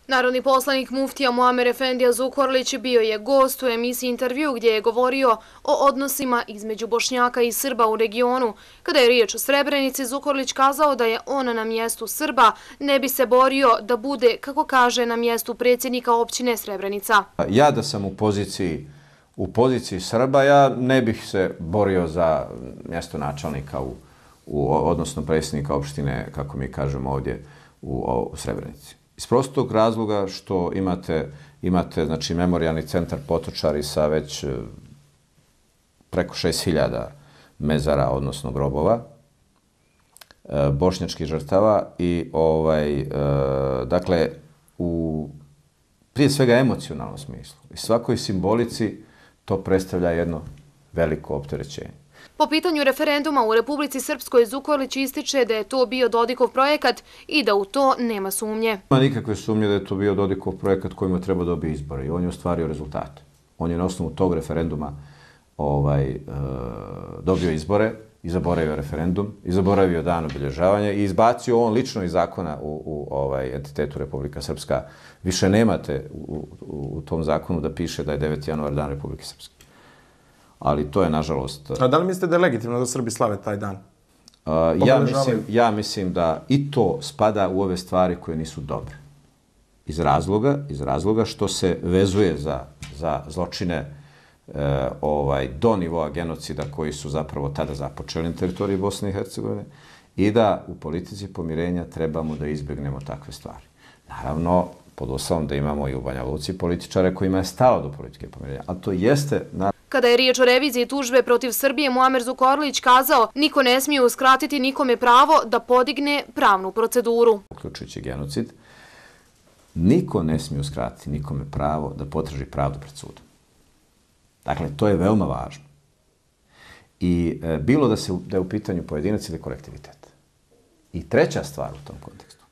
Narodni poslanik muftija Muamer Efendija Zukorlić bio je gost u emisiji Intervju gdje je govorio o odnosima između Bošnjaka i Srba u regionu. Kada je riječ o Srebrenici, Zukorlić kazao da je on na mjestu Srba ne bi se borio da bude, kako kaže, na mjestu predsjednika općine Srebrenica. Ja da sam u poziciji Srba, ja ne bih se borio za mjesto načelnika odnosno predsjednika opštine, kako mi kažemo ovdje, u Srebrenici. Iz prostog razloga što imate znači, memorijalni centar Potočari sa već preko 6000 mezara, odnosno grobova, bošnjačkih žrtava i dakle, prije svega emocionalnom smislu i svakoj simbolici to predstavlja jedno veliko opterećenje. Po pitanju referenduma u Republici Srpskoj, Zukorlić ističe da je to bio Dodikov projekat i da u to nema sumnje. Nema nikakve sumnje da je to bio Dodikov projekat kojima treba dobiti izbore i on je ostvario rezultate. On je na osnovu tog referenduma dobio izbore i zaboravio referendum i zaboravio dan obilježavanja i izbacio on lično iz zakona u entitetu Republika Srpska. Više nemate u tom zakonu da piše da je 9. januar dan Republike Srpske. Ali to je, nažalost... A da li mislite da je legitimno da Srbi slave taj dan? Ja mislim da i to spada u ove stvari koje nisu dobre. Iz razloga što se vezuje za zločine do nivoa genocida koji su zapravo tada započeli na teritoriji Bosne i Hercegovine i da u politici pomirenja trebamo da izbjegnemo takve stvari. Naravno, pod uslovom da imamo i u Banja Luci političare kojima je stalo do politike pomirenja, ali to jeste... Kada je riječ o reviziji tužbe protiv Srbije, Muamer Zukorlić kazao niko ne smije uskratiti nikome pravo da podigne pravnu proceduru. Uključujući genocid, niko ne smije uskratiti nikome pravo da potraži pravdu pred sudom. Dakle, to je veoma važno. I bilo da je u pitanju pojedinac ili kolektivitet. I treća stvar u tom kontekstu.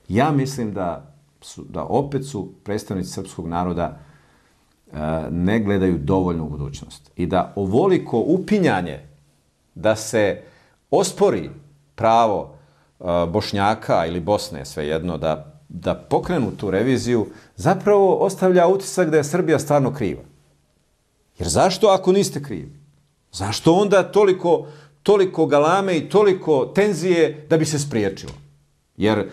Ja mislim da opet su predstavnici srpskog naroda ne gledaju dovoljno u budućnost i da ovoliko upinjanje da se ospori pravo Bošnjaka ili Bosne, svejedno, da pokrenu tu reviziju, zapravo ostavlja utisak da je Srbija stvarno kriva. Jer zašto ako niste krivi? Zašto onda toliko galame i toliko tenzije da bi se spriječilo? Jer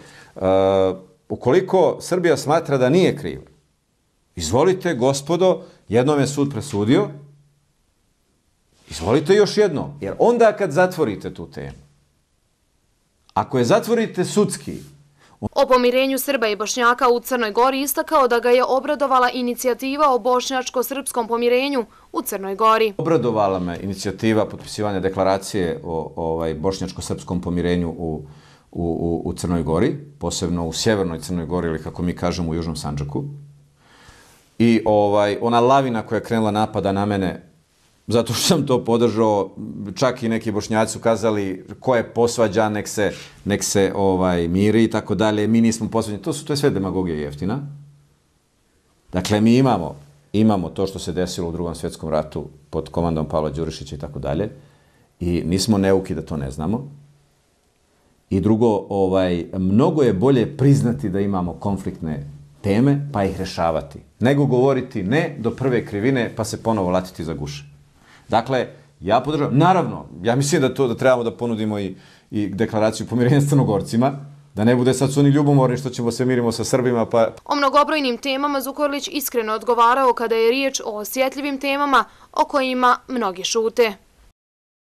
ukoliko Srbija smatra da nije kriva, izvolite, gospodo, jednom je sud presudio, izvolite još jednom. Jer onda kad zatvorite tu temu, ako je zatvorite sudski... O pomirenju Srba i Bošnjaka u Crnoj Gori istakao da ga je obradovala inicijativa o bošnjačko-srpskom pomirenju u Crnoj Gori. Obradovala me inicijativa potpisivanja deklaracije o bošnjačko-srpskom pomirenju u Crnoj Gori, posebno u sjevernoj Crnoj Gori ili kako mi kažemo u Južnom Sandžaku. I ona lavina koja je krenula napada na mene, zato što sam to podržao, čak i neki Bošnjaci su kazali ko je posvađan, nek se miri i tako dalje, mi nismo posvađani. To je sve demagogija jeftina. Dakle, mi imamo to što se desilo u Drugom svjetskom ratu pod komandom Pavla Đurišića i tako dalje i nismo neuki da to ne znamo. I drugo, mnogo je bolje priznati da imamo konfliktne teme pa ih rešavati, nego govoriti ne do prve krivine pa se ponovo latiti za guše. Dakle, ja podržavam, naravno, ja mislim da trebamo da ponudimo i deklaraciju pomirenja s Crnogorcima, da ne bude sad su oni ljubomorni što ćemo se mirimo sa Srbima. O mnogobrojnim temama Zukorlić iskreno odgovarao kada je riječ o osjetljivim temama o kojima mnogi šute.